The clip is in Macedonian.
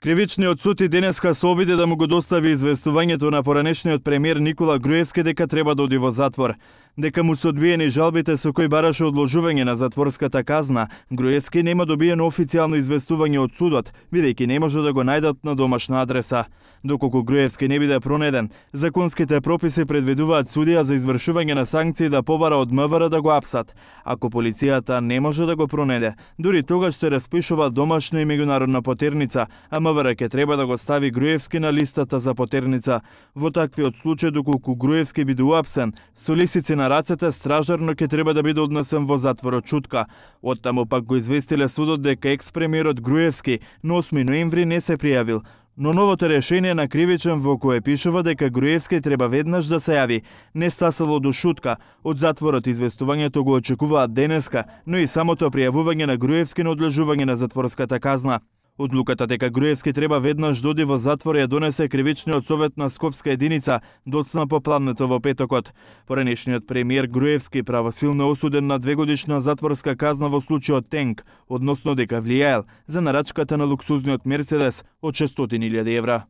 Кривичниот суд и денеска се обиде да му го достави известувањето на поранешниот премиер Никола Груевски дека треба да оди во затвор. Дека му се одбиени жалбите со кои бараше одложување на затворската казна, Груевски нема добиено официјално известување од судот, бидејќи не може да го најдат на домашна адреса. Доколку Груевски не биде пронеден, законските прописи предвидуваат судија за извршување на санкции да побара од МВР да го апсат. Ако полицијата не може да го пронеде, дури тогаш се распишува домашна и меѓународна потерница, а МВР ќе треба да го стави Груевски на листата за потерница. Во таквиот случај, доколку Груевски биде уапсен, со лисици на рацете, стражарно ќе треба да биде однесен во затворот Чутка. Оттаму пак го известиле судот дека екс-премиерот Груевски на 8 ноември не се пријавил, но новото решение на кривичен во кое пишува дека Груевски треба веднаш да се јави, не стасело до шутка. Од затворот известувањето го очекуваат денеска, но и самото пријавување на Груевски на одлежување на затворската казна. Одлуката дека Груевски треба веднаш доди во затвор ја донесе кривичниот совет на Скопска единица доцна попладнето во петокот. Поранешниот премиер Груевски правосилно осуден на 2-годишна затворска казна во случајот Тенк, односно дека влијаел за нарачката на луксузниот Мерцедес од 600.000 евра.